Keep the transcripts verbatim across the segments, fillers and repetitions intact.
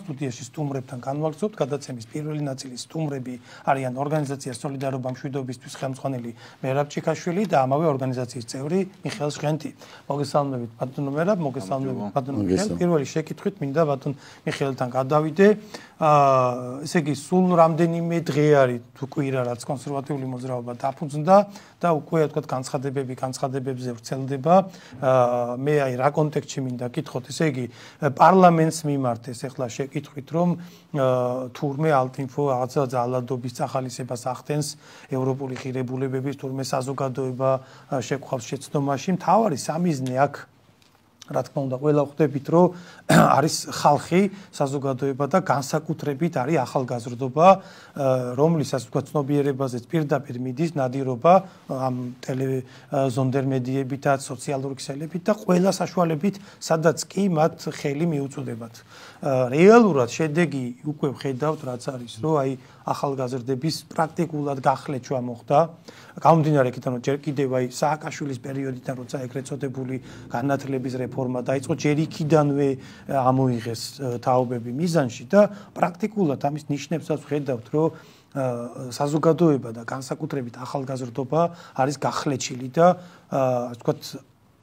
სტუდიაში სტუმრებთან განვაგრძობთ. გადაცემის პირველი ნაწილი სტუმრები არიან ორგანიზაცია სოლიდარობა მშვიდობისთვის ხელმძღვანელი მერაბ ჩიქაშვილი და ამავე ორგანიზაციის წევრი მიხეილ ჟღენტი. მოგესალმებით ბატონო მერაბ, მოგესალმებით ბატონო მიხეილ. პირველი შეკითხვით მინდა ბატონ მიხეილთან გადავიდე. აა ესე იგი სულ რამდენიმე დღე არის თუ კვირა რაც კონსერვატიული მოძრაობა დაფუძნდა და უკვე თქვა განცხადებები განცხადებებზე ვრცელდება. აა მე აი რა კონტექსტში მინდა კითხოთ, ესე იგი პარლამენტს მიმართ ეს ახლა შეკითხვით რომ თურმე ალტინფო რაღაცა ძალადობის წახალისებას ახდენს ევროპული ღირებულებების თურმე საზოგადოება შეგხვავს შეცდომაში. მთავარი სამიზნე აქ რა თქმა უნდა ყველა ხვდებით რომ არის ხალხი საზოგადოება და განსაკუთრებით არის ახალგაზრდობა რომლისას თქვა ცნობიერებაზეც პირდაპირ მიდის ნადირობა ამ ტელეზონდერ მედიებითაც სოციალური ქსელებით და ყველა საშუალებით სადაც კი მათ ხელი მიუწვდებათ. რეალურად შედეგი უკვე ვხედავთ რაც არის რომ აი ახალგაზრდების პრაქტიკულად გახლეჩვა მოხდა. გამომდინარე იქიდან რომ ჯერ კიდევ აი სააკაშვილის პერიოდიდან როცა ეგრეთ წოდებული განათლების რეფორმა დაიწყო ჯერ იქიდანვე ამოიღეს თაობები მიზანში და პრაქტიკულად ამის ნიშნებსაც ვხედავთ რომ საზოგადოება და განსაკუთრებით ახალგაზრდობა არის გახლეჩილი და ასე ვთქვათ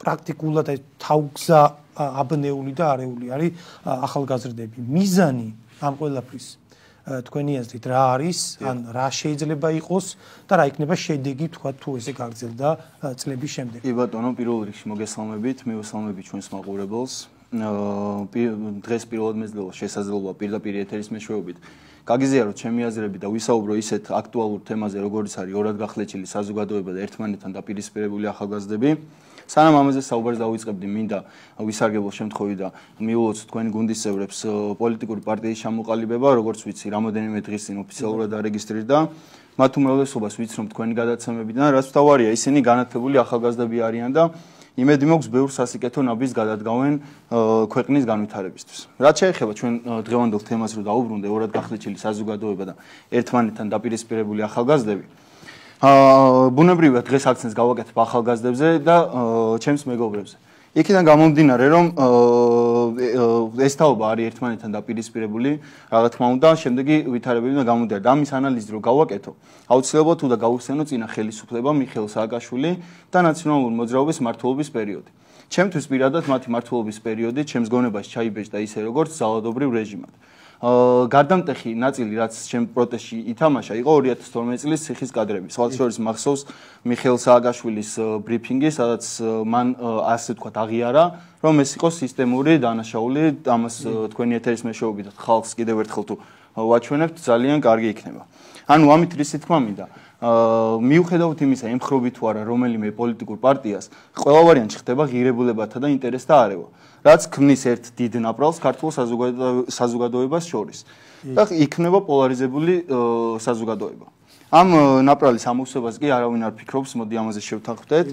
პრაქტიკულად აი თავგზა აბნეული და არეული არის ახალგაზრდები. მიზანი ამ ყველაფრის თქვენი აზრით რა არის, ან რა შეიძლება იყოს და რა იქნება შედეგი თქვა თუ ესე გაგრძელდა წლების შემდეგ. კი ბატონო, პირველ რიგში მოგესალმებით, მივესალმებით ჩვენს მაყურებელს. დღეს პირველად მეძლევა შესაძლებლობა პირდაპირ ეთერის მეშვეობით გაგიზიაროთ ჩემი აზრები და ვისაუბრო ისეთ აქტუალურ თემაზე, როგორც არის ორად გახლეჩილი საზოგადოება და ერთმანეთთან დაპირისპირებული ახალგაზრდები. სანამ ამაზე საუბარს დავიწყებდი, მინდა ვისარგებლო შემთხვევით და მიულოცოთ თქვენი გუნდის წევრებს პოლიტიკური პარტიის ჩამოყალიბება, როგორც ვიცი, რამოდენიმე დღის წინ ოფიციალურად არეგისტრირდა. მათ უმრავლესობას ვიცნობ თქვენი გადაცემებიდან, რაც მთავარია, ისინი განათლებული ახალგაზრდები არიან და იმედი მაქვს ბევრ სასიკეთო ნაბიჯს გადადგავენ ქვეყნის განვითარებისთვის. რაც შეეხება ჩვენ დღევანდელ თემას რომ დაუბრუნდე ორად გახლეჩილი საზოგადოება და ერთმანეთთან დაპირისპირებული ახალგაზრდები. ბუნებრივია დღეს აქცენტს გავაკეთებ ახალგაზრდებზე და ჩემს მეგობრებზე. იქიდან გამომდინარე რომ ეს თაობა არის ერთმანეთთან დაპირისპირებული, რა თქმა უნდა, შემდეგი ვითარებები უნდა გამოდიარდეთ. ამის ანალიზი რო გავაკეთო, აუცილებლად უნდა გავიხსენო წინა ხელისუფლება მიხეილ სააკაშვილი და ნაციონალური მოძრაობის მმართველობის პერიოდი. ჩემთვის პირადად მათი მმართველობის პერიოდი ჩემს გონებაში ჩაიბეჭდა ისე როგორც ძალადობრივ რეჟიმად. გარდამტეხი ნაწილი რაც ჩემ პროტესტში ითამაშა იყო ორი ათას თორმეტი წლის ციხის კადრები. სხვათა შორის მახსოვს მიხეილ სააკაშვილის ბრიფინგი, სადაც მან ასე თქვა აღიარა, რომ ეს იყო სისტემური დანაშაული, ამას თქვენი ეთერის მეშვეობით ხალხს კიდევ ერთხელ თუ ვაჩვენებთ, ძალიან კარგი იქნება. ანუ ამით რისი თქმა მინდა მიუხედავთ იმისა, ემხრობი თუ არა რომელიმე პოლიტიკურ პარტიას, ყველა ვარიანტში ხდება ღირებულებათა და ინტერესთა არევა. რაც ქმნის ერთ დიდ ნაპრალს ქართულ საზოგადოებას შორის და იქნება პოლარიზებული საზოგადოება. ამ ნაპრალის ამოვსებას კი არავინ არ ფიქრობს, მოდი ამაზე შევთანხმდეთ.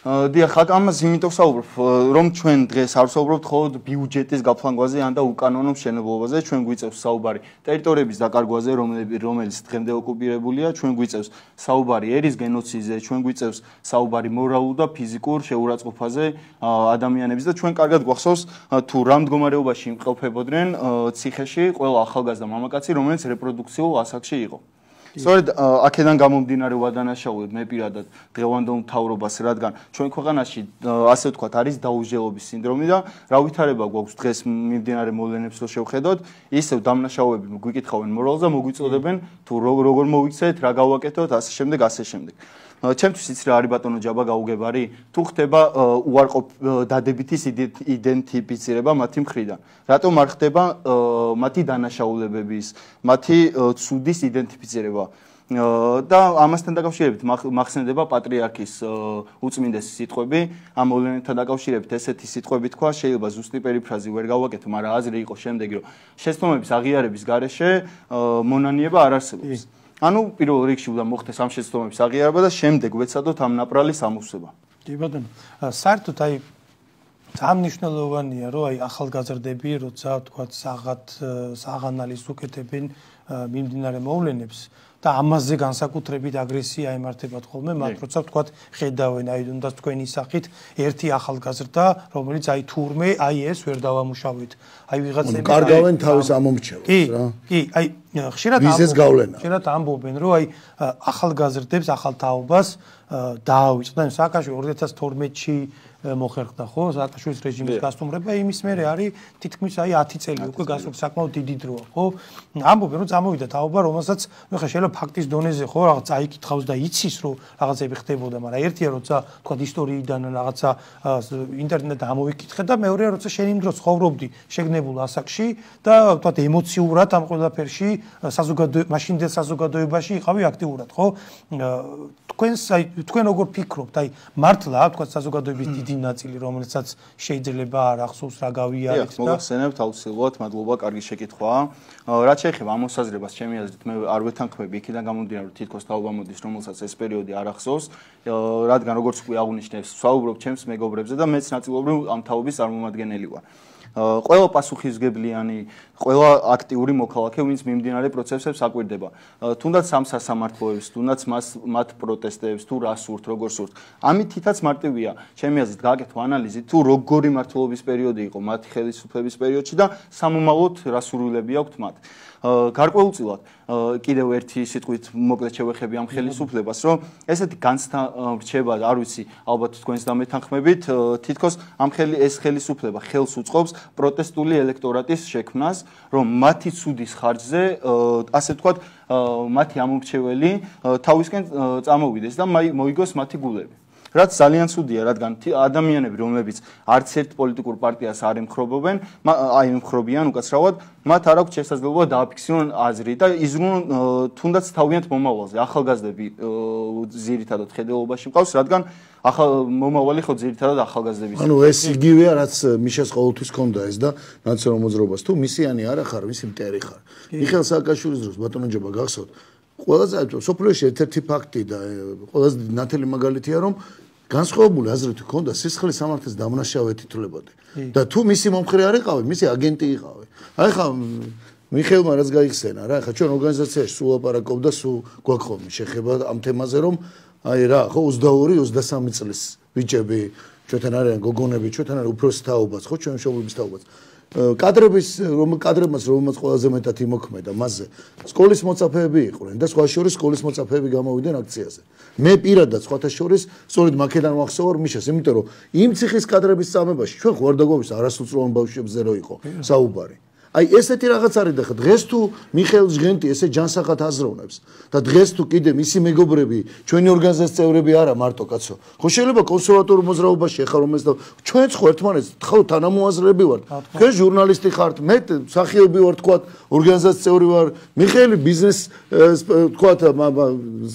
დიახ, ამას იმიტომ ვსაუბრობ, რომ ჩვენ დღეს არ ვსაუბრობთ მხოლოდ ბიუჯეტის გაფლანგვაზე ან და უკანონო მშენებლობაზე, ჩვენ გვიწევს საუბარი ტერიტორიების დაკარგვაზე, რომელიც დღემდე ოკუპირებულია, ჩვენ გვიწევს საუბარი ერის გენოციდზე, ჩვენ გვიწევს საუბარი მორალურ და ფიზიკურ შეურაცხყოფაზე ადამიანების და ჩვენ კარგად გვახსოვს თუ რა მდგომარეობაში იმყოფებოდნენ ციხეში ყველა ახალგაზრდა მამაკაცი, რომელიც რეპროდუქციულ ასაკში იყო. სწორედ აქედან გამომდინარე ვადანაშაულებ მე პირადად დღევანდელ მთავრობას, რადგან ჩვენ ქვეყანაში ასე ვთქვათ არის დაუჟელობის სინდრომი და რა ვითარება გვაქვს დღეს მიმდინარე მოვლენებს რო შევხედოთ, ისევ დამნაშაულები გვიკითხავენ მორალს და მოგვიწოდებენ თუ როგორ მოვიქცეთ, რა გავაკეთოთ, ასე შემდეგ, ასე შემდეგ. ჩემთვის იცი რა არის ბატონო ჯაბა გაუგებარი, თუ ხდება უარყოფ დადებითის იდენტიფიცირება მათი მხრიდან. რატომ არ ხდება მათი დანაშაულებების, მათი ცუდის იდენტიფიცირება? და ამასთან დაკავშირებით მახსენდება პატრიარქის უწმინდესი სიტყვები, ამ მოვლენებთან დაკავშირებით ესეთი სიტყვები თქვა, შეიძლება ზუსტი პერიფრაზი ვერ გავაკეთო, მაგრამ აზრი იყო შემდეგი, რომ შეცდომების აღიარების გარეშე მონანიება არ არსებობს. ანუ პირველ რიგში უნდა მოხდეს ამ შეცდომების აღიარება და შემდეგ ვეცადოთ ამ ნაპრალის ამოვსება. კი ბატონო, საერთოდ აი ძალიან მნიშვნელოვანია, რომ აი ახალგაზრდები, როცა თქვა საღად საღანალის უკეთებენ მიმდინარე მოვლენებს და ამაზე განსაკუთრებით აგრესია ემართებათ ხოლმე, მათ როცა თქვა ხედავენ აი უნდა თქვენი სახით ერთი ახალგაზრდა, რომელიც აი თურმე აი ეს ვერ დავამუშავეთ. აი ვიღაცები კარგავენ თავის ამომრჩევლებს რა. კი, აი ხშირად ხშირად ამბობენ, რომ აი ახალგაზრდებს, ახალ თაობას დაავიწყდნენ სააკაშვილი ორი ათას თორმეტში მოხერხდა ხო სააკაშვილის რეჟიმის გასტუმრება იმის მერე არის თითქმის აი ათი წელი უკვე გასულ საკმაოდ დიდი დროა ხო ამბობენ რომ წამოვიდა თაობა რომელსაც ნუ ხა შეიძლება ფაქტის დონეზე ხო რაღაც წაიკითხავს და იცის რომ რაღაცები ხდებოდა მაგრამ ერთია როცა თქვა ისტორიიდან რაღაცა ინტერნეტიდან ამოვიკითხე და მეორეა როცა შენ იმ დროს ცხოვრობდი შეგნებულ ასაკში და თქვა ემოციურად ამ ყველაფერში საზოგადოება მაშინდელ საზოგადოებაში იყავი აქტიურად ხო თქვენს აი თქვენ როგორ ფიქრობთ აი მართლა თქვა საზოგადოების დიდი ნაწილი რომელსაც შეიძლება არ ახსოვს რა გავიარეთ და მოგახსენებთ აუცილებლად მადლობა კარგი შეკითხვაა რაც შეეხება ამ მოსაზრებას ჩემი აზრით მე არ ვეთანხმები იქიდან გამომდინარე რომ თითქოს თაობა მოდის რომელსაც ეს პერიოდი არ ახსოვს რადგან როგორც უკვე აღნიშნეს ვსაუბრობ ჩემს მეგობრებზე და მეც ნაწილობრივ ამ თაობის წარმომადგენელი ვარ ყველა პასუხისგებლიანი, ყველა აქტიური მოქალაქე, ვინც მიმდინარე პროცესებს აკვირდება. თუნდაც ამ სასამართლოებს, თუნდაც მას მათ პროტესტებს, თუ რა სურთ, როგორ სურთ. ამით თითაც მარტივია, ჩემი აზრით, გააკეთო ანალიზი, თუ როგორი მართლობის პერიოდი იყო მათი ხელისუფლების პერიოდში და სამომავლოდ რა სურვილები აქვთ მათ. გარკვეულწილად კიდევ ერთი სიტყვით მოკლედ შევეხები ამ ხელისუფლებას, რომ ესეთი განცდა რჩება, არ ვიცი, ალბათ თქვენს დამეთანხმებით, თითქოს ამ ხელი ეს ხელისუფლება ხელს უწყობს პროტესტული ელექტორატის შექმნას, რომ მათი ცუდის ხარჯზე, ასე ვთქვათ, მათი ამორჩეველი თავისკენ წამოვიდეს და მოიგოს მათი გულები. რაც ძალიან ცუდია, რადგან ადამიანები, რომლებიც არც ერთ პოლიტიკურ პარტიას არ ემხრობობენ, აი ემხრობიან უკაცრავად, მათ არ აქვს შესაძლებლობა დააფიქსირონ აზრი და იზრუნონ თუნდაც თავიანთ მომავალზე. ახალგაზრდები ძირითადად ხედელობაში მყავს, რადგან ახალ მომავალი ხო ძირითადად ახალგაზრდების. ანუ ეს იგივეა, რაც მიშას ყოველთვის ჰქონდა ეს და ნაციონალურ მოძრაობას თუ მისიანი არ ხარ, მისი მტერი ხარ. მიხეილ სააკაშვილის დროს ბატონოჯობა გახსოვთ. ყველაზე სოფლიოში ერთ-ერთი ფაქტი და ყველაზე ნათელი მაგალითია, რომ განსხვავებული აზრით ჰქონდა სისხლის სამართლის დამნაშავე თითლებოდი. და თუ მისი მომხრე არ იყავი, მისი აგენტი იყავი. აი ხა მიხეილმა რაც გაიხსენა რა, ხა ჩვენ ორგანიზაციაში სულ აპარაკობ და სულ გვაქვს ხოლმე შეხება ამ თემაზე, რომ აი რა, ხო ოცდაორი ოცდასამი წლის ბიჭები, ჩვენთან არიან გოგონები, ჩვენთან არის უფროსი თაობაც, ხო ჩვენ მშობლების თაობაც. კადრების რომ კადრებმაც რომელმაც ყველაზე მეტად იმოქმედა მასზე სკოლის მოწაფეები იყვნენ და სხვა შორის სკოლის მოწაფეები გამოვიდნენ აქციაზე მე პირადად სხვათა შორის სწორედ მაქედან ვახსოვარ მიშას იმიტომ რომ იმ ციხის კადრების წამებაში ჩვენ ხوار დაგვავის არასრულწლოვან ბავშვებზე რო იყო საუბარი აი ესეთი რაღაც არის და ხა დღეს თუ მიხეილ ჟღენტი ესე ჯანსაღად აზროვნებს და დღეს თუ კიდე მისი მეგობრები ჩვენი ორგანიზაციის წევრები არა მარტო კაცო ხო შეიძლება კონსერვატორ მოძრაობაში ეხა რომ ეს და ჩვენც ხო ერთმანეთს ხო თანამოაზრეები ვართ თქვენ ჟურნალისტი ხართ მე მსახიობი ვარ თქვა ორგანიზაციის წევრი ვარ მიხეილი ბიზნეს თქვა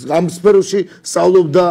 ამ სფეროში სწავლობდა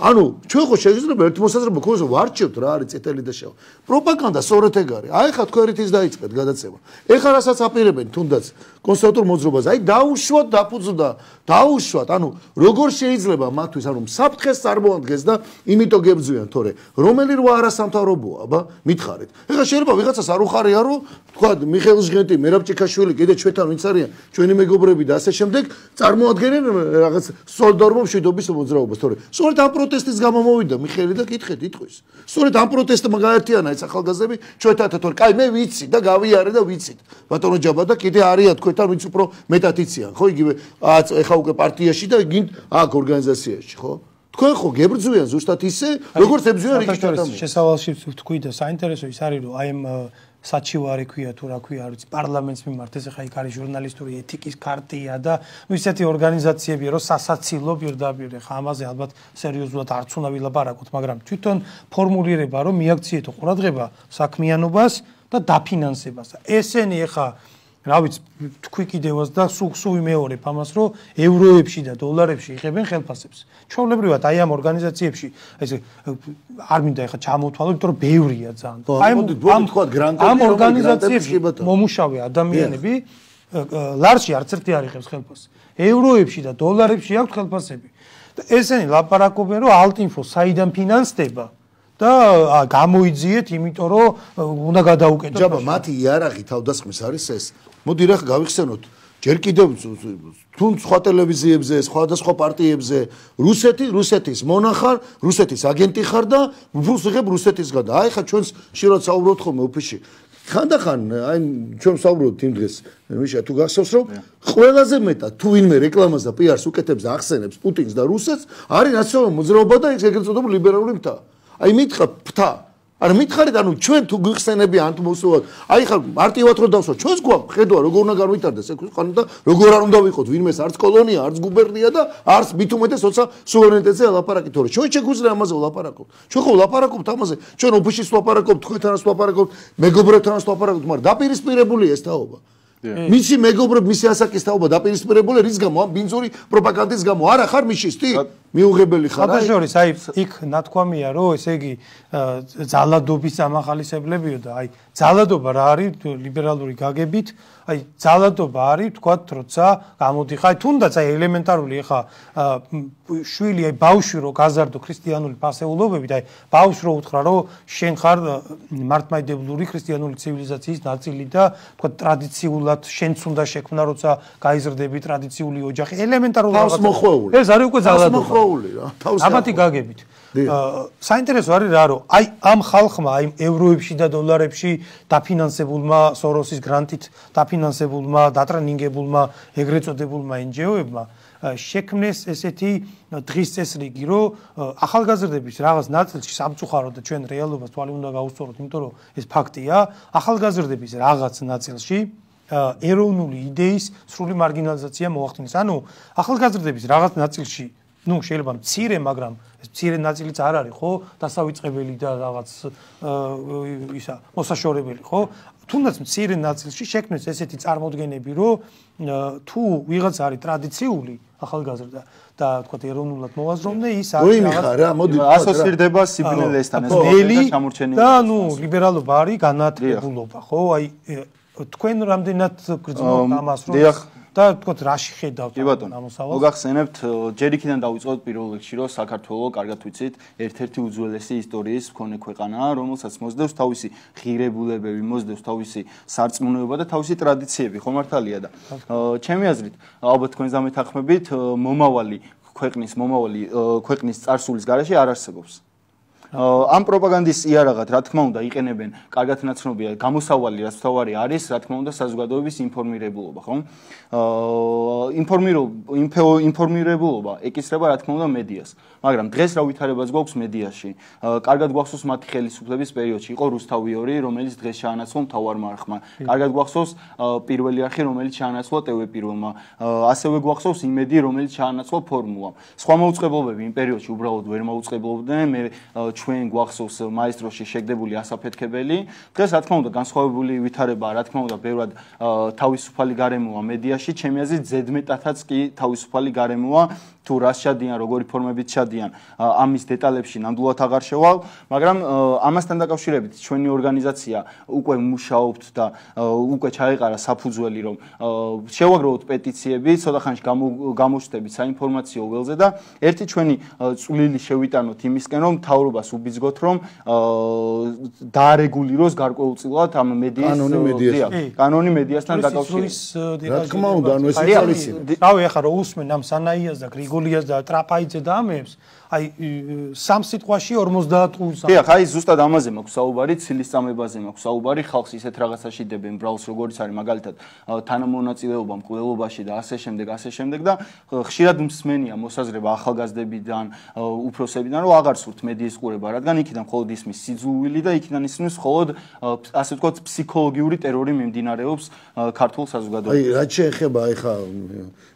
ანუ ჩვენ ხო შეიძლება ერთ მოსაზრება გქონდეს ვარჩევთ რა არის წითელი და შავი პროპაგანდა სწორედ ეგ არის აი ხა თქვენ რითიც დაიწყეთ გადაცემა ეხლა რასაც აპირებენ თუნდაც კონსერვატორ მოძრაობას აი დაუშვათ დაფუძნდა დაუშვათ ანუ როგორ შეიძლება მათთვის ანუ საფრთხეს წარმოადგენს და იმიტომ გებძვიან თორე რომელი რვა არასამთავრობოა აბა მითხარით ეხლა შეიძლება ვიღაცას არ უხარია რომ თქვა მიხეილ ჟღენტი მერაბ ჭიქაშვილი კიდე ჩვენთან ვინც არიან ჩვენი მეგობრები და ასე შემდეგ წარმოადგენენ რაღაც სოლიდარობის მშვიდობის მოძრაობას თორე სწორედ ამ პროტესტის გამო მოვიდა მიხეილი და კითხეთ იტყვის სწორედ ამ პროტესტმა გაერთიანა ეს ახალგაზრდები ჩვენთან თორე კაი მე ვიცი და გავიარე და ვიცით ბატონო ჯაბა და კიდე არიან თქვენთან ვინც უფრო მეტად იციან ხო იგივე ეხა უკვე პარტიაში და გინდ აქ ორგანიზაციაში ხო თქვენ ხო გებრძვიან ზუსტად ისე როგორც ებრძვიან რიგით ადამიანს შესავალში თქვი და საინტერესო ის არის რომ აი ამ საჩივარი ქვია თუ რა ქვია არ ვიცი პარლამენტს მიმართ ეს ხა იქ არის ჟურნალისტური ეთიკის ქარტია და ნუ ისეთი ორგანიზაციებია რომ სასაცილო პირდაპირ ხა ამაზე ალბათ სერიოზულად არც უნდა ვილაპარაკოთ მაგრამ თვითონ ფორმულირება რომ მიაქციეთო ყურადღება საქმიანობას და დაფინანსებას ესენი ხა რა ვიცი თქვი კიდევაც და სულ სულ ვიმეორებ ამას რომ ევროებში და დოლარებში იღებენ ხელფასებს ჩვეულებრივად აი ამ ორგანიზაციებში ეს არ მინდა ეხა ჩამოვთვალო იმიტომ რომ ბევრია ძალიან აი ამ თქვა გრანტები ამ ორგანიზაციებში მომუშავე ადამიანები ლარში არც ერთი არ იღებს ხელფასს ევროებში და დოლარებში აქვს ხელფასები და ესენი ლაპარაკობენ რომ ალტინფო საიდან ფინანსდება და გამოიძიეთ, იმიტომ რომ უნდა გადაუკეთოთ. ჯაბა, მათი იარაღი თავდასხმის არის ეს. მოდი რა გავიხსენოთ. ჯერ კიდევ თუ სხვა ტელევიზიებზე, სხვადასხვა პარტიებზე რუსეთი, რუსეთის მონახარ, რუსეთის აგენტი ხარ და ფულს იღებ რუსეთისგან. აი ხა ჩვენს შილად საუბრობთ ხოლმე ოფისში. ხანდახან აი ჩვენ საუბრობთ იმ დღეს, მიშა თუ გახსოვს რომ ყველაზე მეტად თუ ვინმე რეკლამას და პიარს უკეთებს და ახსენებს პუტინს და რუსეთს, არის ნაციონალური მოძრაობა და ეს ეგრეთ წოდებული ლიბერალური მთა. აი მითხრა მთა არა მითხარით ანუ ჩვენ თუ გიხსენები ან თუ მოსულობთ აი ხარ მარტივად რო დავსვა ჩვენს გვაქვს ხედვა როგორ უნდა განვითარდეს ეს ქვეყანა და როგორ არ უნდა ვიყოთ ვინმეს არც კოლონია არც გუბერნია და არც მით უმეტეს როცა სუვერენიტეტზე ლაპარაკით თორე ჩვენ შეგვიძლია ამაზე ვლაპარაკოთ ჩვენ ხო ვლაპარაკობთ ამაზე ჩვენ ოფისში ვლაპარაკობთ თქვენთანაც ვლაპარაკობთ მეგობრებთანაც ვლაპარაკობთ მაგრამ დაპირისპირებულია ეს თაობა მისი მეგობრები მისი ასაკის თაობა დაპირისპირებულია რის გამო ამ ბინძური პროპაგანდის გამო არა ხარ მიშისტი მიუღებელი ხარ აი შორის აი იქ ნათქვამია რომ ესე იგი ძალადობის ამახალისებლებიო და აი ძალადობა რა არის ლიბერალური გაგებით აი ძალადობა არის თქვათ როცა გამოდიხარ თუნდაც აი ელემენტარული ხა შვილი აი ბავშვი რო გაზარდო ქრისტიანული ფასეულობებით აი ბავშვს რო უთხრა რომ შენ ხარ მართლმადიდებლური ქრისტიანული ცივილიზაციის ნაწილი და თქვათ ტრადიციულად შენც უნდა შექმნა როცა გაიზრდები ტრადიციული ოჯახი ელემენტარული რაღაცა ეს არის უკვე ძალადობა რა ამათი გაგებით საინტერესო არის რა რომ აი ამ ხალხმა აი ევროებში და დოლარებში დაფინანსებულმა სოროსის გრანტით დაფინანსებულმა დატრენინგებულმა ეგრეთ წოდებულმა ენჯიოებმა შექმნეს ესეთი დღის წესრიგი რომ ახალგაზრდების რაღაც ნაწილში სამწუხაროდ და ჩვენ რეალობას თვალი უნდა გაუსწოროთ იმიტომ რომ ეს ფაქტია ახალგაზრდების რაღაც ნაწილში ეროვნული იდეის სრული მარგინალიზაცია მოახდინეს ანუ ახალგაზრდების რაღაც ნაწილში ну შეიძლება მცირე მაგრამ ეს მცირე ნაწილიც არ არის ხო დასავიწყებელი და რაღაც ისა მოსაშორებელი ხო თუნდაც მცირე ნაწილში შექმნეს ესეთი წარმოდგენები რომ თუ ვიღაც არის ტრადიციული ახალგაზრდა და თქვათ ეროვნულად მოვაზროვნე ის არის რაღაც ასოცირდება სიბნელესთან ეს ნელი და ну ლიბერალობა არის განათლებულობა ხო აი თქვენ რამდენად გრძნობთ ამას რომ და თქო რაში ხედავთ ამოსავალს? მოგახსენებთ, ჯერ იქიდან დავიწყოთ პირველ რიგში, რომ საქართველოს კარგად ვიცით, ერთ-ერთი უძველესი ისტორიის მქონე ქვეყანაა, რომელსაც მოსდევს თავისი ღირებულებები, მოსდევს თავისი სარწმუნოება და თავისი ტრადიციები, ხო მართალია და ჩემი აზრით, ალბათ თქვენს დამეთანხმებით, მომავალი ქვეყნის, მომავალი ქვეყნის წარსულის გარეშე არ არსებობს. ამ პროპაგანდის იარაღად, რა თქმა უნდა, იყენებენ კარგად ნაცნობია გამოსავალი, რაც თავარი არის, რა თქმა უნდა, საზოგადოების ინფორმირებულობა, ხო? ინფორმირებულობა ეკისრება, რა თქმა უნდა, მედიას. მაგრამ დღეს რა ვითარებაც გვაქვს მედიაში. კარგად გვახსოვს მათი ხელისუფლების პერიოდში იყო რუსთავი ორი, რომელიც დღეს შეანაცვლა მთავარმა არხმა. კარგად გვახსოვს პირველი არხი, რომელიც შეანაცვლა ტევ პირველმა. ასევე გვახსოვს იმედი, რომელიც შეანაცვლა ფორმულამ. სხვა მოუწყებლობები იმ პერიოდში უბრალოდ ვერ მოუწყებლობდნენ. მე ჩვენ გვახსოვს მაესტროში შეგდებული ასაფეთქებელი. დღეს რა თქმა უნდა განსხვავებული ვითარებაა, რა თქმა უნდა, ბევრად თავისუფალი გარემოა მედიაში, ჩემი აზრით ზედმეტადაც კი თავისუფალი გარემოა. თუ რას შადიან, როგორი ფორმებით შადიან, ამის დეტალებში ნამდვილად აღარ შევალ, მაგრამ ამასთან დაკავშირებით ჩვენი ორგანიზაცია უკვე მუშაობთ და უკვე ჩაეყარა საფუძველი, რომ შევაგროვოთ პეტიციები, ცოტა ხანში გამოჩნდებით საინფორმაციო ველზე და ერთი ჩვენი წვლილი შევიტანოთ იმისკენ, რომ მთავრობას უბიძგოთ, რომ დაარეგულიროს გარკვეულწილად ამ მედიის კანონი მედიასთან დაკავშირებით. რა თქმა უნდა, ანუ ეს არის. რავი, ახლა რო უსმენ ამ სანაიას და გრიგოლიას და ტრაპაიძე და ამებს, აი სამ სიტყვაში ორმოცდაათ ყურს. დიახ, აი ზუსტად ამაზე მაქვს საუბარი, ცილის წამებაზე მაქვს საუბარი, ხალხს ისეთ რაღაცაში დებენ ბრალს, როგორც არის მაგალითად თანამონაწილეობა მკვლელობაში და ასე შემდეგ, ასე შემდეგ და ხშირად მსმენია მოსაზრება ახალგაზრდებიდან, უფროსებიდან, რომ აღარ სურთ მედიის ყურება, რადგან იქიდან მხოლოდ ისმის სიძულვილი და იქიდან ისმის მხოლოდ ასე ვთქვათ ფსიქოლოგიური ტერორი მიმდინარეობს ქართულ საზოგადოებაში. აი, რაც შეეხება აი ხა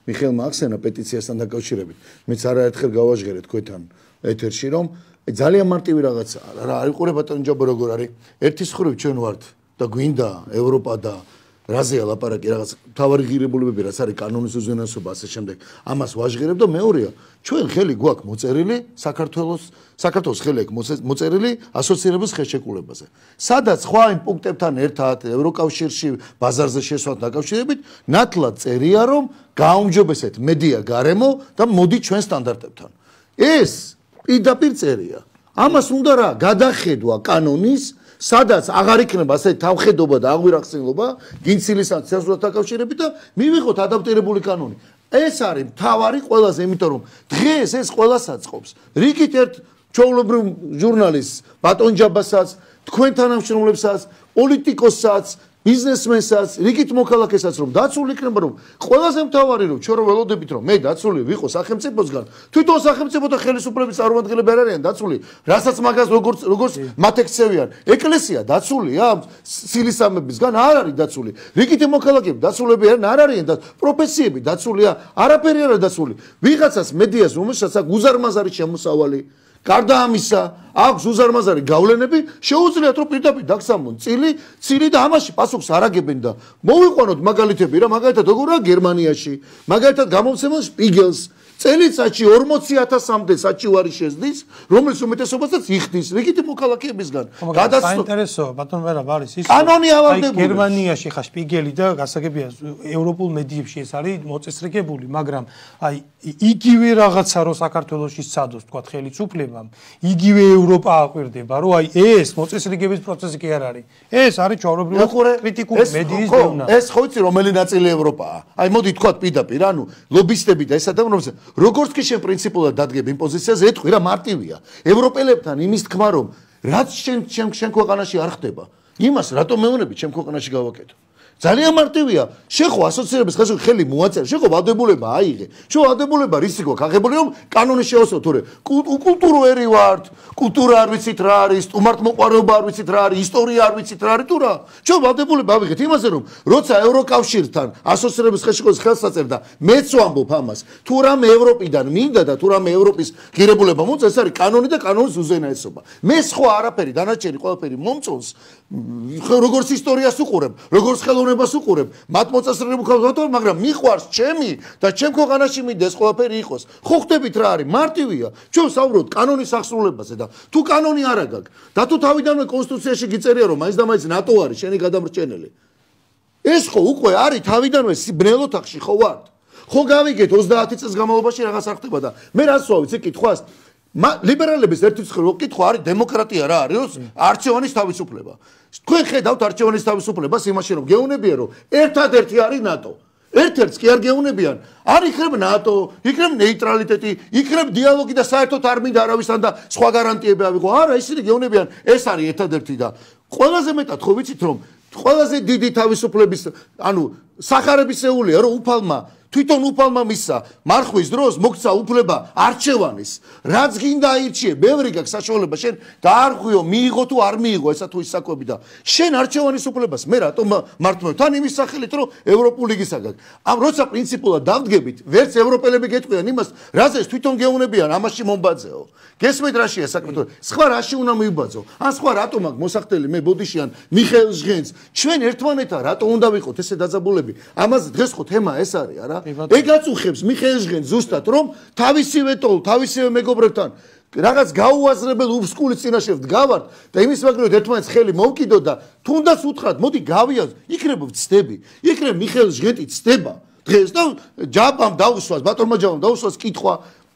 მიხეილ მაქსენა პეტიციასთან დაკავშირებით, მეც არაერთხელ გავაჟღერე თქვენთან ეთერში, რომ ძალიან მარტივი რაღაცაა. რა არის ყურე ბატონო ჯაბო როგორ არის? ერთის ხრივ ჩვენ ვართ და გვინდა ევროპა და რაზეა ლაპარაკი რაღაც თავარი ღირებულებები, რაც არის კანონის უზენაესობა ასე შემდეგ. ამას ვაჟღერებ და მეორეა, ჩვენ ხელი გვაქვს მოწერილი საქართველოს საქართველოს ხელი აქვს მოწერილი ასოცირების ხელშეკრულებაზე. სადაც სხვა იმ პუნქტებთან ერთად ევროკავშირში ბაზარზე შესვლად დაკავშირებით, ნათლად წერია, რომ გააუმჯობესეთ მედია გარემო და მოდი ჩვენ სტანდარტებთან. ეს პირდაპირ წერია. ამას უნდა რა გადახედვა კანონის სადაც აღარ იქნება ასეთი თავხედობა და აღვირახსენობა გინცილისა ცენზურას დაკავშირებით და მივიღოთ ადაპტირებული კანონი. ეს არის მთავარი ყველაზე, იმიტომ რომ დღეს ეს ყველას აწყობს. რიგით ერთ ჩვეულებრივ ჟურნალისტს, ბატონჯაბასაც, თქვენ თანამშრომლებსაც, პოლიტიკოსსაც, ბიზნესმენსაც, რიგით მოქალაქესაც რომ დაცული იქნება რომ ყველაზე მთავარი რომ ჩვენ რომ ველოდებით რომ მე დაცული ვიყო სახელმწიფოსგან, თვითონ სახელმწიფო და ხელისუფლების წარმომადგენლები არ არიან დაცული, რასაც მაგას როგორც როგორც მათ ექცევიან. ეკლესია დაცულია სილისამებისგან არ არის დაცული. რიგითი მოქალაქეები დაცულები არიან, არ არიან და პროფესიები დაცულია, არაფერი არ არის დაცული. ვიღაცას მედიას რომელსაც აქვს უზარმაზარი შემოსავალი გარდა ამისა, აქვს უზარმაზარი გავლენები, შეუძლიათ რომ პირდაპირ დაგსამონ წილი, წილი და ამაში პასუხს არ აგებენ და მოვიყვანოთ მაგალითები რა, მაგალითად როგორია გერმანიაში, მაგალითად გამომცემელ შპიგელს წელიწადში ორმოცი ათასამდე საჩივარი შეძდის, რომელიც უმეტესობასაც იხდის რიგითი მოქალაქეებისგან. გადასაინტერესოა, ბატონ ვერაბ არის ის. კანონი ავალდებული. გერმანიაში ხა შპიგელი და გასაგებია ევროპულ მედიებში ეს არის მოწესრიგებული, მაგრამ აი იგივე რაღაცა რო საქართველოში სცადოს თქვა ხელისუფლებამ, იგივე ევროპა აკვირდება, რომ აი ეს მოწესრიგების პროცესი კი არ არის. ეს არის ჩვეულებრივი კრიტიკული მედიის დევნა. ეს ხო იცი რომელი ნაწილი ევროპაა? აი მოდი თქვა პირდაპირ, ანუ ლობისტები და ეს ადამიანები როგორც კი შენ პრინციპულად დადგებ იმ პოზიციაზე, ეთქვი რა მარტივია. ევროპელებთან იმის თქმა რომ რაც შენ შენ შენ ქვეყანაში არ ხდება, იმას რატომ მეუბნები ჩემ ქვეყანაში გავაკეთო? ძალიან მარტივია. შენ ხო ასოცირების ხელში ხელი მოაწერე, შენ ხო ვალდებულება აიღე. შენ ვალდებულება რისი გვაქვს? აღებული რომ კანონი შეოსო თორე კულტურული ვართ, კულტურა არ ვიცით რა არის, სტუმართმოყვარეობა არ ვიცით რა არის, ისტორია არ ვიცით რა არის თუ რა. შენ ვალდებულება ავიღეთ იმაზე რომ როცა ევროკავშირთან ასოცირების ხელში ყოს ხელს აწერდა, მეც ვამბობ ამას. თუ რამე ევროპიდან მინდა და თუ რამე ევროპის ღირებულება მოწეს, ეს არის კანონი და კანონის უზენაესობა. მე სხვა არაფერი დანარჩენი ყველაფერი მომწონს. როგორც ისტორიას უყურებ, როგორც ხელოვნებას უყურებ, მათ მოწესრიგებულ ხალხთან, მაგრამ მიყვარს ჩემი და ჩემ ქვეყანაში მინდა ეს ყველაფერი იყოს. ხო ხდებით რა არის? მარტივია. ჩვენ საუბრობთ კანონის აღსრულებაზე და თუ კანონი არ აგაკ და თუ თავიდანვე კონსტიტუციაში გიწერია რომ მაინც და მაინც ნატო არის შენი გადამრჩენელი. ეს ხო უკვე არის თავიდანვე სიბნელ ოთახში ხო ვართ? ხო გავიგეთ ოცდაათი წელს განმავლობაში რაღაც არ ხდება და მე რას ვავიცი კითხვას ლიბერალების ერთმანეთს კითხვა არის დემოკრატია რა არის? არჩევანის თავისუფლება. თქვენ ხედავთ არჩევანის თავისუფლებას იმაში რომ გეუნებიან რომ ერთადერთი არის ნატო. ერთ-ერთს კი არ გეუნებიან. არ იქნებ ნატო, იქნებ ნეიტრალიტეტი, იქნებ დიალოგი და საერთოდ არ მინდა არავისთან და სხვა გარანტიები ავიღო. არა, ისინი გეუნებიან, ეს არის ერთადერთი და ყველაზე მეტად ხო ვიცით რომ ყველაზე დიდი თავისუფლების, ანუ სახარებისეულია რომ უფალმა თვითონ უფალმა მისცა მარხვის დროს მოგცა უფლება არჩევანის. რაც გინდა აირჩიე, ბევრი გაქვს საშუალება შენ დაარღვიო, მიიღო თუ არ მიიღო ესა თუ ის საკვები და შენ არჩევანის უფლებას მე რატომ მართმევ? თან იმის სახელით რომ ევროპული ლიგისაგან. ამ როცა პრინციპულად დავდგებით, ვერც ევროპელები გეტყვიან იმას, რაზეც თვითონ გეუნებიან, ამაში მომბაძეო. გესმით რაშია საქმე? სხვა რაში უნდა მივბაძო? ან სხვა რატომ აქ მოსახდელი მე ბოდიშიან მიხეილ ჟღენს? ჩვენ ერთმანეთთან რატომ უნდა ვიყოთ ესე დაძაბულები? ამაზე დღეს ხო თემა ეს არის, არა? ეგ აწუხებს მიხეილ ჟღენს ზუსტად რომ თავისივე ტოლ, თავისივე მეგობრებთან რაღაც გაუაზრებელ უბსკულის წინაშე ვდგავართ და იმის მაგალითად ერთმანეთს ხელი მოვკიდოთ და თუნდაც უთხრათ, მოდი გავიაზ, იქნებ ვცდები. იქნებ მიხეილ ჟღენტი ცდება დღეს და ჯაბამ დაუსვას, ბატონმა ჯაბამ დაუსვას კითხვა,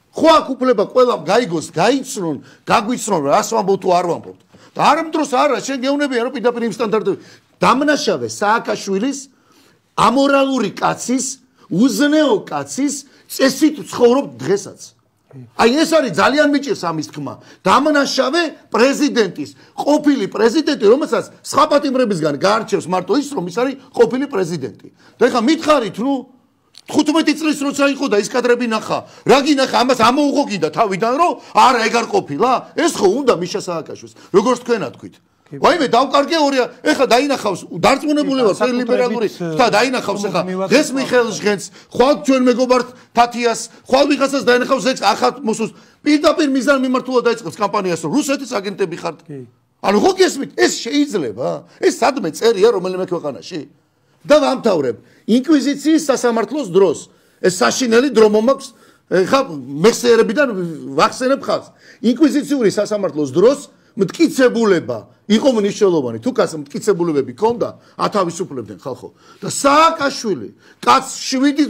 ხო აქ უფლება ყველამ გაიგოს, გაიცნონ, გაგვიცნონ, რას ვამბობ თუ არ ვამბობთ. და არ მდროს არა, შენ გეუნებიან რომ პირდაპირ იმ სტანდარტები დამნაშავე სააკაშვილის ამორალური კაცის უზნეო კაცის წესით ცხოვრობ დღესაც. აი ეს არის ძალიან მიჭირს ამის თქმა. დამნაშავე პრეზიდენტის, ყოფილი პრეზიდენტი, რომელსაც სხვა პატიმრებისგან გაარჩევს მარტო ის, რომ ის არის ყოფილი პრეზიდენტი. და ეხლა მითხარით, ნუ თხუთმეტი წლის როცა იყო და ის კადრები ნახა. რა გინახა, ამას ამოუღო კიდე თავიდან, რომ არა ეგ არ ყოფილა? ეს ხო უნდა მიშა სააკაშვილს. როგორც თქვენა თქვით. ვაიმე დავკარგე ორი ეხლა დაინახავს დარწმუნებული ვარ ფერ ლიბერალური და დაინახავს ეხლა დღეს მიხეილ ჟღენს ხვალ ჩვენ მეგობართ თათიას ხვალ ვიღაცას დაინახავს ეს ახალ მოსულს პირდაპირ მიზან მიმართულად დაიწყებს კამპანიას რომ რუსეთის აგენტები ხართ ანუ ხო გესმით ეს შეიძლება ეს სადმე წერია რომელიმე ქვეყანაში და ვამთავრებ ინკვიზიციის სასამართლოს დროს ეს საშინელი დრო მომაქვს ეხლა მეხსიერებიდან ვახსენებ ხალხს ინკვიზიციური სასამართლოს დროს მტკიცებულება იყო მნიშვნელოვანი თუ კაც მტკიცებულებები ქონდა ათავისუფლებდნენ ხალხო და სააკაშვილი კაც შვიდი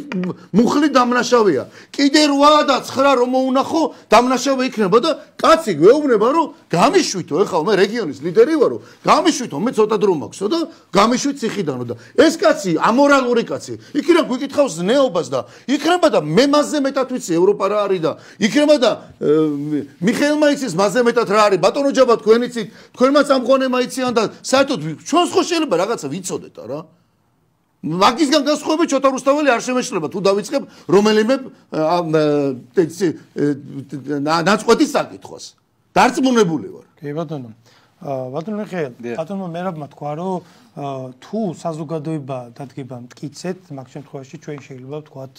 მუხლი დამნაშავეა კიდე რვა და ცხრა რომ მოუნახო დამნაშავე იქნება და კაცი გვეუბნება რომ გამიშვითო ეხლა მე რეგიონის ლიდერი ვარო გამიშვითო მე ცოტა დრო მაქვსო და გამიშვით ციხიდანო და ეს კაცი ამორალური კაცი იქიდან გვიკითხავს ზნეობას და იქნება და მე მასზე მეტად ვიცი ევროპა რა არის და იქნება და მიხეილმა იცის მასზე მეტად რა არის ბატონო ჯაბა თქვენ იცით თქვენმაც ამ ღონემა იციან და საერთოდ ჩვენს ხო შეიძლება რაღაცა ვიცოდეთ რა მაგისგან გასხოვებით ჩოთა რუსთაველი არ შემეშლება თუ დავიწყებ რომელიმე ნაწყვეტის საკითხვას დარწმუნებული ვარ კი ბატონო ბატონო მიხეილ ბატონო მერაბმა თქვა რომ თუ საზოგადოება დადგება მტკიცედ მაგ შემთხვევაში ჩვენ შეიძლება ვთქვათ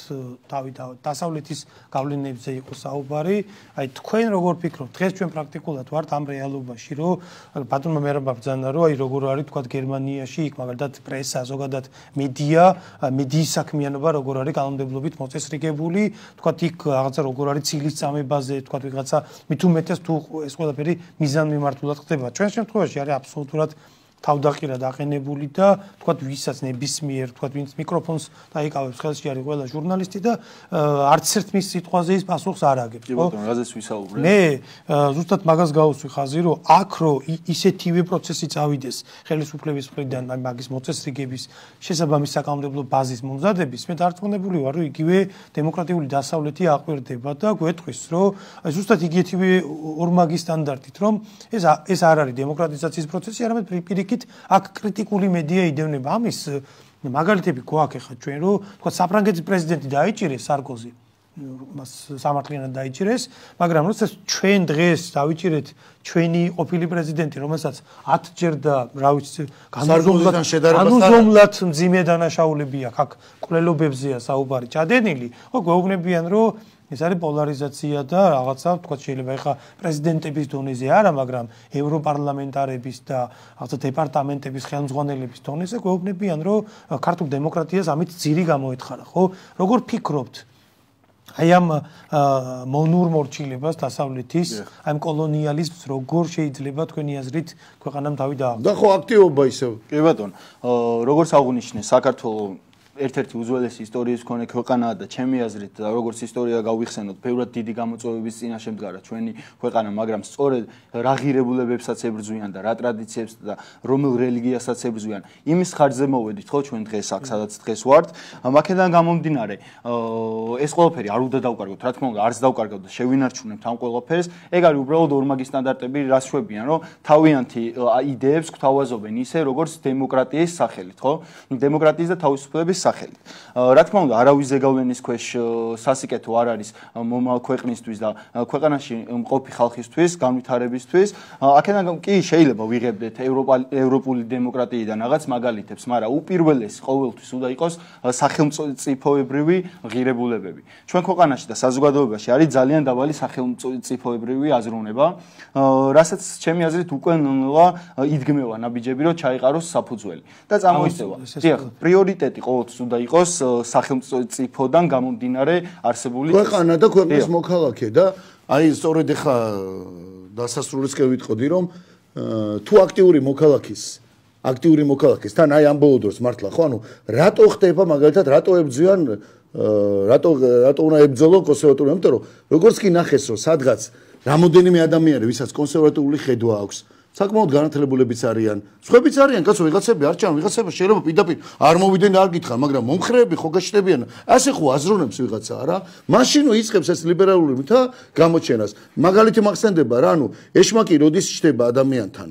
თავი დასავლეთის გავლენებზე იყოს საუბარი აი თქვენ როგორ ფიქრობთ დღეს ჩვენ პრაქტიკულად ვართ ამ რეალობაში რომ ბატონმა მერაბმა ბრძანა რომ აი როგორ არის ვთქვათ გერმანიაში იქ მაგალითად პრესა ზოგადად მედია მედიის საქმიანობა როგორ არის კანონმდებლობით მოწესრიგებული ვთქვათ იქ რაღაცა როგორ არის ცილის წამებაზე ვთქვათ ვიღაცა მით უმეტეს თუ ეს ყველაფერი მიზანმიმართულად ხდება ჩვენ შემთხვევაში არის აბსოლუტურად თავდაყირა დაყენებული და თქვათ ვისაც ნებისმიერ თქვათ ვინც მიკროფონს დაიკავებს ხელში არის ყველა ჟურნალისტი და არც ერთ მის სიტყვაზე ის პასუხს არ აგებს ხო? კი ბატონო, რაზეც ვისაუბრე? მე ზუსტად მაგას გავუსვი ხაზი რომ აქ რო ისეთივე პროცესი წავიდეს ხელისუფლების მხრიდან აი მაგის მოწესრიგების შესაბამის საკანონმდებლო ბაზის მომზადების მე დარწმუნებული ვარ რომ იგივე დემოკრატიული დასავლეთი აყვირდება და გვეტყვის რომ აი ზუსტად იგივე ორმაგი სტანდარტით რომ ეს ეს არ არის დემოკრატიზაციის პროცესი არამედ პირიქით აქ კრიტიკული მედია იდევნება ამის მაგალითები გვაქვს ხა ჩვენ რომ თქვა საფრანგეთის პრეზიდენტი დაიჭირეს სარკოზი მას სამართლიანად დაიჭირეს მაგრამ როდესაც ჩვენ დღეს დავიჭირეთ ჩვენი ყოფილი პრეზიდენტი რომელსაც ათჯერ და რა ვიცი განუზომლად მძიმე დანაშაულები აქვს აქ კვლელობებზეა საუბარი ჩადენილი ხო გვეუბნებიან რომ ეს არის პოლარიზაცია და რაღაცა თქვა შეიძლება ეხა პრეზიდენტების დონეზე არა, მაგრამ ევროპარლამენტარების და რაღაცა დეპარტამენტების ხელმძღვანელების დონეზე გვეუბნებიან, რომ ქართულ დემოკრატიას ამით ძირი გამოეთხარა, ხო? როგორ ფიქრობთ? აი ამ მონურ მორჩილებას დასავლეთის, აი ამ კოლონიალიზმს როგორ შეიძლება თქვენი აზრით ქვეყანამ თავი დააყენოს? და ხო აქტივობა ისევ. კი ბატონო, როგორც აღუნიშნე, საქართველოს ერთ-ერთი უძველესი ისტორიის მქონე ქვეყანაა და ჩემი აზრით და როგორც ისტორია გავიხსენოთ, ბევრად დიდი გამოწვევების წინაშე მდგარა ჩვენი ქვეყანა, მაგრამ სწორედ რა ღირებულებებსაც ებრძვიან და რა ტრადიციებს და რომელ რელიგიასაც ებრძვიან, იმის ხარჯზე მოვედით, ხო, ჩვენ დღეს აქ სადაც დღეს ვართ. მაქედან გამომდინარე, ეს ყველაფერი არ უნდა დავკარგოთ, რა თქმა უნდა, არც დავკარგოთ და შევინარჩუნებთ ამ ყველაფერს. ეგ არის უბრალოდ ორმაგი სტანდარტები, რას შვებიან, რომ თავიანთი იდეებს გვთავაზობენ ისე, როგორც დემოკრატიის სახელით, ხო? დემოკრატიის და თავისუფლების სახელით. რა თქმა უნდა, არავის ზეგავლენის ქვეშ სასიკეთო არ არის მომავალ ქვეყნისთვის და ქვეყანაში მყოფი ხალხისთვის, განვითარებისთვის. აქედან კი შეიძლება ვიღებდეთ ევროპული დემოკრატიიდან რაღაც მაგალითებს, მაგრამ უპირველესი ყოველთვის უნდა იყოს სახელმწიფოებრივი ღირებულებები. ჩვენ ქვეყანაში და საზოგადოებაში არის ძალიან დაბალი სახელმწიფოებრივი აზროვნება, რასაც ჩემი აზრით უკვე ნელა იდგმევა ნაბიჯები, რომ ჩაიყაროს საფუძველი და წამოიწევა. დიახ, პრიორიტეტი ყოველთვის უნდა იყოს სახელმწიფოდან გამომდინარე არსებული ქვეყანა და ქვეყნის მოქალაქე და აი სწორედ ეხა დასასრულისკენ ვიტყოდი რომ თუ აქტიური მოქალაქის აქტიური მოქალაქის თან აი ამ ბოლო დროს მართლა ხო ანუ რატო ხდება მაგალითად რატო ებძვიან რატო რატო უნდა ებძოლო კონსერვატული იმიტომ რომ როგორც კი ნახეს რომ სადღაც რამოდენიმე ადამიანი ვისაც კონსერვატიული ხედვა აქვს საკმაოდ განათლებულებიც არიან. სხვებიც არიან, კაცო, ვიღაცები არ ჩან, ვიღაცები შეიძლება პირდაპირ არ მოვიდნენ და არ გითხან, მაგრამ მომხრეები ხო გაჩნდებიან. ასე ხო აზროვნებს ვიღაცა, არა? მაშინ იწყებს ეს ლიბერალური მითა გამოჩენას. მაგალითი მახსენდება რა, ანუ ეშმაკი როდის ჩდება ადამიანთან.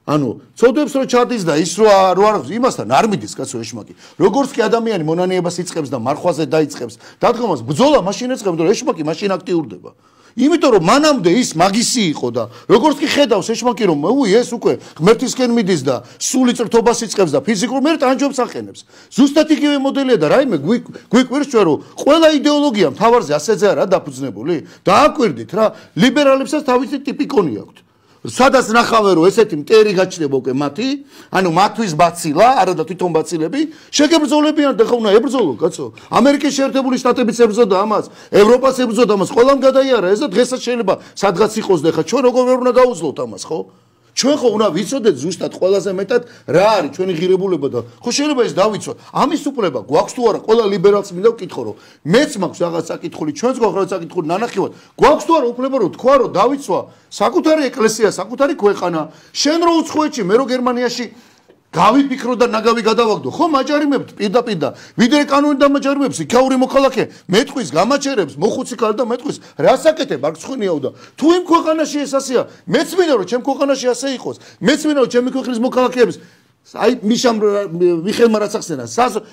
ანუ ცოდვებს რომ ჩადის და ის რო არ იმასთან არ მიდის კაცო ეშმაკი. როგორც კი ადამიანი მონანიებას იწყებს და მარხვაზე დაიწყებს, დადგომას ბრძოლა მაშინ ეწყებს, რომ ეშმაკი მაშინ აქტიურდება. იმიტომ რომ მანამდე ის მაგისი იყო და როგორც კი ხედავს ეშმაკი რომ უი ეს უკვე ღმერთისკენ მიდის და სული წრთობას იწყებს და ფიზიკურ მერტ ანჯობს აყენებს. ზუსტად იგივე მოდელია და რაიმე გვიკვირს ჩვენ რომ ყველა იდეოლოგია მთავარზე ასეზე არა დაფუძნებული? დააკვირდით რა, ლიბერალებსაც თავისი ტიპიკონი აქვთ. სადაც ნახავენ რომ ესეთი მტერი გაჩნდება უკვე მათი, ანუ მათთვის ბაცილა, არა და თვითონ ბაცილები, შეგებრძოლებიან და ხო უნდა ებრძოლო, კაცო. ამერიკის შეერთებული შტატებიც ებრძოდა ამას, ევროპას ებრძოდა ამას, ყველამ გადაიარა ეს და დღესაც შეიძლება სადღაც იყოს და ხა ჩვენ როგორ ვერ უნდა გაუძლოთ ამას, ხო? ჩვენ ხო უნდა ვიცოდეთ ზუსტად ყველაზე მეტად რა არის ჩვენი ღირებულება და ხო შეიძლება ეს დავიცვათ. ამის უფლება გვაქვს თუ არა? ყველა ლიბერალს მინდა ვკითხო რომ მეც მაქვს რაღაც საკითხული, ჩვენც გვაქვს რაღაც საკითხული ნანახევად. გვაქვს თუ არა უფლება რომ თქვა რომ დავიცვა საკუთარი ეკლესია, საკუთარი ქვეყანა, შენ რო უცხოეთში, მე რო გერმანიაში გავიფიქრო და ნაგავი გადავაგდო. ხო მაჯარიმებთ პირდაპირ. ვიდრე კანონი დამაჯარიმებს, იქაური მოქალაქე მეტყვის გამაჩერებს, მოხუცი ქალი და მეტყვის. რას აკეთებ? არ გცხვნიაო და თუ იმ ქვეყანაში ეს ასეა, მეც მინდა რომ ჩემ ქვეყანაში ასე იყოს. მეც მინდა რომ ჩემი ქვეყნის მოქალაქეებს აი მიშამ მიხელმა რაც ახსენა,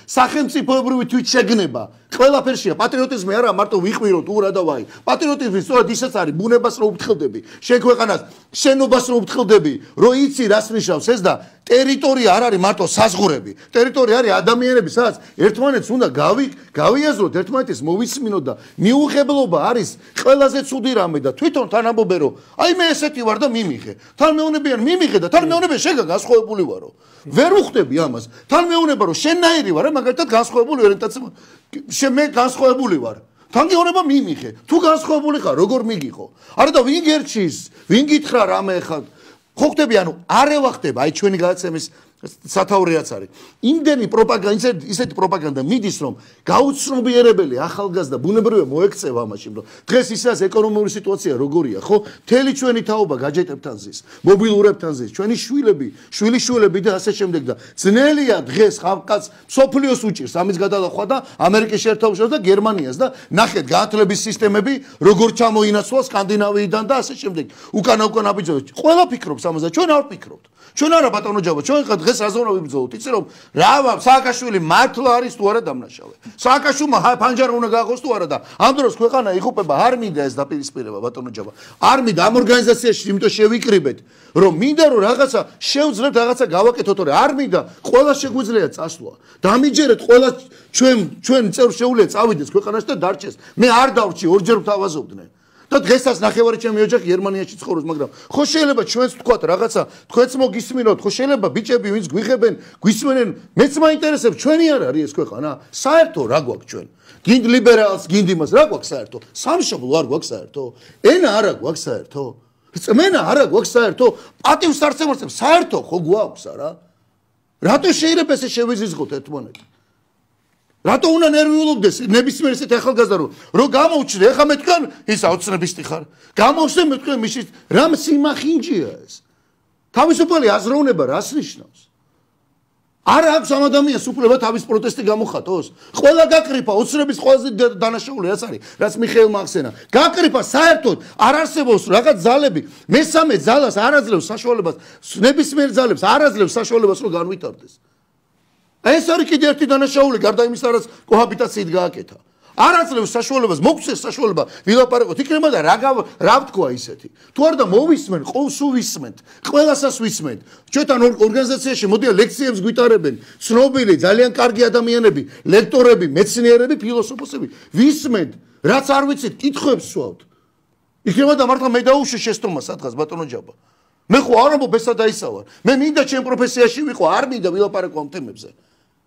სახელმწიფოებრივი თვითშეგნება. ყველაფერშია პატრიოტიზმი არა მარტო ვიყვირო თუ რა და ვაი. პატრიოტიზმი სწორედ ისეც არის, ბუნებას რო უფრთხილდები, შენ ქვეყანას, შენობას რო უფრთხილდები, რო იცი რას ნიშნავს ეს და ტერიტორია არ არის მარტო საზღურები. ტერიტორია არის ადამიანები, სადაც ერთმანეთს უნდა გავი გავიაზროთ, ერთმანეთის მოვისმინოთ და მიუღებლობა არის ყველაზე ცუდი რამე და თვითონ თან ამბობენ რომ აი მე ესეთი ვარ და მიმიღე. თან მეუბნებიან მიმიღე და თან მეუბნებიან შეგა განსხვავებული ვარო. ვერ უხდები ამას. თან მეუბნება რომ შენნაირი ვარ, მაგალითად განსხვავებული ორიენტაცია შენ მე განსხვავებული ვარ. თან გეუბნება მიმიღე. თუ განსხვავებული ხარ, როგორ მიგიღო? არა და ვინ გერჩის? ვინ გითხრა რამე ხარ? ხო ხდები, ანუ არ ევახდება აი ჩვენი გადაცემის სათაურიაც არის. იმდენი პროპაგანდა, ისეთი პროპაგანდა მიდის, რომ გაუცნობიერებელი ახალგაზრდა ბუნებრივია მოექცევა ამაში, რომ დღეს ისას ეკონომიკური სიტუაცია როგორია, ხო? მთელი ჩვენი თაობა გაჯეტებთან ზის, მობილურებთან ზის, ჩვენი შვილები, შვილიშვილები და ასე შემდეგ და ძნელია დღეს ხალხს სოფლიოს უჭირს ამის გადალახვა და ამერიკის შეერთებულ შტატებს და გერმანიას და ნახეთ განათლების სისტემები როგორ ჩამოინაცვლა სკანდინავიიდან და ასე შემდეგ. უკანა უკანა აბიჯო. ყველა ფიქრობს ამაზე, ჩვენ არ ვფიქრობთ. ჩვენ არა ბატონო ჯაბა, ჩვენ დღეს რაზე უნდა ვიბრძოლოთ? იცი რომ რა სააკაშვილი მართლა არის თუ არა დამნაშავე. სააკაშვილმა ფანჯარა უნდა გააღოს თუ არა და ამ დროს ქვეყანა იღუპება, არ მინდა ეს დაპირისპირება ბატონო ჯაბა. არ მინდა ამ ორგანიზაციაში იმიტომ შევიკრიბეთ, რომ მინდა რომ რაღაცა შევძლებთ, რაღაცა გავაკეთოთ, თორე არ მინდა ყველა შეგვიძლია წასვლა. დამიჯერეთ ყველა ჩვენ ჩვენ წევრ შეუძლია წავიდეს ქვეყანაში და დარჩეს. მე არ დავრჩი, ორჯერ ვთავაზობდნენ. და დღესაც ნახევარი ჩემი ოჯახი გერმანიაში ცხოვრობს, მაგრამ ხო შეიძლება ჩვენც თქვათ რაღაცა, თქვენც მოგისმინოთ, ხო შეიძლება ბიჭები ვინც გვიღებენ, გვისმენენ, მეც მაინტერესებს, ჩვენი არ არის ეს ქვეყანა? საერთო რა გვაქვს ჩვენ? გინდ ლიბერალს, გინდ იმას რა გვაქვს საერთო? სამშობლო არ გვაქვს საერთო? ენა არა გვაქვს საერთო? წმენა არა გვაქვს საერთო? პატივს არ შემოწმებს საერთო ხო გვაქვს არა? რატო შეიძლება ესე შევიზიზღოთ ერთმანეთი? რატო უნდა ნერვიულობდეს ნებისმიერ ესეთ ახალგაზრდა რომ რომ გამოუჩნდე, ეხლა მე თქვენ ის აუცნებისτη ხარ. გამოვხსნე მე თქვენ მის რამ სიმახინჯია ეს. თავისუფალი აზროვნება რას ნიშნავს? არ აქვს ამ ადამიანს უფლება თავის პროტესტი გამოხატოს. ყველა გაკრიფა, ოცნების ყველაზე დანაშაული რაც არის, რაც მიხეილმა ახსენა. გაკრიფა საერთოდ არ არსებობს რაღაც ძალები, მესამე ძალას არ აძლევს საშუალებას, ნებისმიერ ძალებს არ აძლევს საშუალებას რომ განვითარდეს. ეს არის კიდე ერთი დანაშაული, გარდა იმისა, რაც კოჰაბიტაციით გააკეთა. არ აძლევს საშუალებას, მოგცეს საშუალება ვილაპარაკოთ. იქნება და რა რა ვთქვა ისეთი. თუ არ და მოვისმენ, ყოველს ვისმენთ, ყველასას ვისმენთ. ჩვენთან ორგანიზაციაში მოდიან ლექციებს გვიტარებენ, ცნობილი, ძალიან კარგი ადამიანები, ლექტორები, მეცნიერები, ფილოსოფოსები. ვისმენთ, რაც არ ვიცით, კითხვებს ვსვავთ. იქნება და მართლა მე დაუშვი შეცდომა სადღაც ბატონო ჯაბა. მე ხო არ ამბობ ესა და ისა ვარ. მე მინდა ჩემ პროფესიაში ვიყო, არ მინდა ვილაპარაკო ამ თემებზე.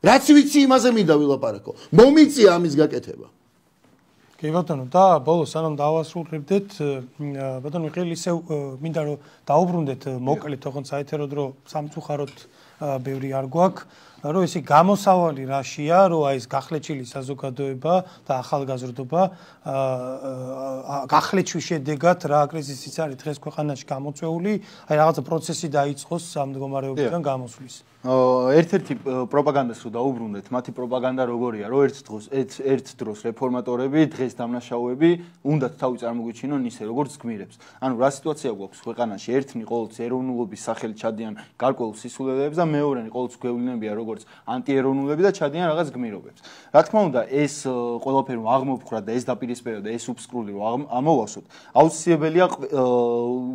რაც ვიცი იმაზე მინდა ვილაპარაკო. მომიწია ამის გაკეთება. კი ბატონო, და ბოლოს სანამ დავასრულებდეთ, ბატონო მიხეილი ისევ მინდა რომ დაუბრუნდეთ მოკლედ, თქო საეთერო დრო სამწუხაროდ ბევრი არ გვაქვს, რომ ისი გამოსავალი რაშია, რომ აი ეს გახლეჩილი საზოგადოება და ახალგაზრდობა გახლეჩვის შედეგად რა კრიზისიც არის დღეს ქვეყანაში გამოწვეული, აი რაღაცა პროცესი დაიწყოს ამ მდგომარეობიდან გამოსვლის. ერთ-ერთი პროპაგანდას რო დაუბრუნდეთ, მათი პროპაგანდა როგორია, რომ ერთ დროს ერთ დროს რეფორმატორები, დღეს დამნაშავეები უნდათ თავი წარმოგვიჩინონ ისე, როგორც გმირებს. ანუ რა სიტუაცია გვაქვს ქვეყანაში? ერთნი ყოველთვის ეროვნულობის სახელით ჩადიან გარკვეულ სისულელეებს და მეორენი ყოველთვის გვევლინებიან როგორც ანტიეროვნულები და ჩადიან რაღაც გმირობებს. რა თქმა უნდა, ეს ყველაფერი აღმოფხრა და ეს დაპირისპირება და ეს უბსკრული რომ ამოვასოთ, აუცილებელია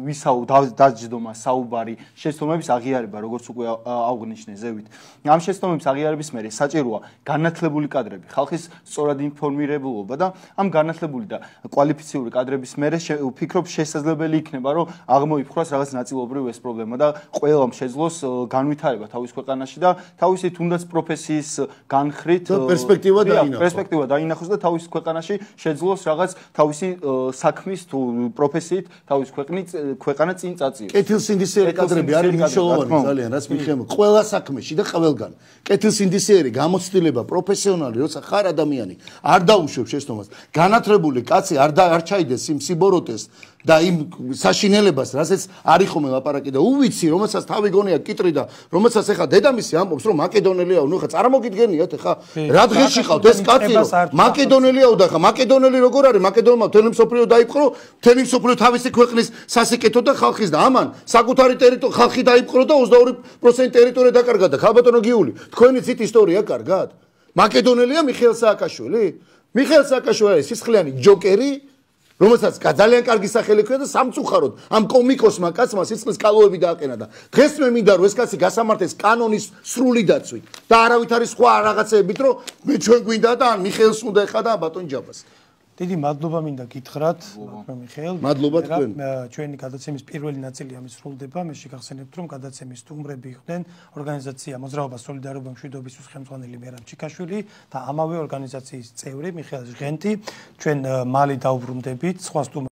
ვისაუ დაჯდომა საუბარი შეცდომების აღიარება, როგორც უკვე აღვნიშნე ზევით. ამ შეცდომების აღიარების მერე საჭიროა განათლებული კადრები, ხალხის სწორად ინფორმირებულობა და ამ განათლებული და კვალიფიციური კადრების მერე ვფიქრობ შესაძლებელი იქნება, რომ აღმოიფხვრას რაღაც ნაწილობრივ ეს პრობლემა და ყველამ შეძლოს განვითარება თავის ქვეყანაში და თავისი თავისი თუნდაც პროფესიის განხრით პერსპექტივა დაინახოს. პერსპექტივა დაინახოს და თავის ქვეყანაში შეძლოს რაღაც თავისი საქმის თუ პროფესიით თავის ქვეყნის ქვეყანა წინ წაწიოს. კეთილსინდისიერი კადრები არის მნიშვნელოვანი ძალიან, რაც მიხემ ყველა საქმეში და ყველგან. კეთილსინდისიერი გამოცდილება პროფესიონალი, როცა ხარ ადამიანი, არ დაუშვებ შეცდომას. განათლებული კაცი არ არ ჩაიდეს იმ სიბოროტეს და იმ საშინელებას, რასაც არის ხოლმე ლაპარაკი და უვიცი, რომელსაც თავი გონია კიტრი და რომელსაც ეხა დედამისი ამბობს, რომ მაკედონელიაო, ნუ ხა წარმოგიდგენიათ ეხა რა დღეში ხავთ ეს კაცი რომ მაკედონელიაო და ხა მაკედონელი როგორ არის? მაკედონმა მთელი მსოფლიო დაიპყრო, მთელი მსოფლიო თავისი ქვეყნის სასიკეთო და ხალხის და ამან საკუთარი ტერიტორია ხალხი დაიპყრო და ოცდაორი პროცენტი ტერიტორია დაკარგა და ხალბატონო გიული, თქვენი ცით ისტორია კარგად? მაკედონელია მიხეილ სააკაშვილი? მიხეილ სააკაშვილი არის სისხლიანი ჯოკერი, რომელსაც ძალიან კარგი სახელი ჰქონდა და სამწუხაროდ ამ კომიკოსმა კაცმა სისხლის კალოები დააყენა და დღეს მე მინდა რომ ეს კაცი გასამართეს კანონის სრული დაცვით და არავით არის სხვა რაღაცეებით რომ მე ჩვენ გვინდა და ან მიხეილს უნდა ეხა და ბატონ ჯაბას. დიდი მადლობა მინდა გითხრათ, მიხეილ. მადლობა თქვენ. ჩვენი გადაცემის პირველი ნაწილი ამის სრულდება. მე შეგახსენებთ, რომ გადაცემის სტუმრები იყვნენ ორგანიზაცია მოძრაობა სოლიდარობა მშვიდობისთვის ხელმძღვანელი მერაბ ჩიკაშვილი და ამავე ორგანიზაციის წევრი მიხეილ ჟღენტი. ჩვენ მალე დავბრუნდებით სხვა სტუმრ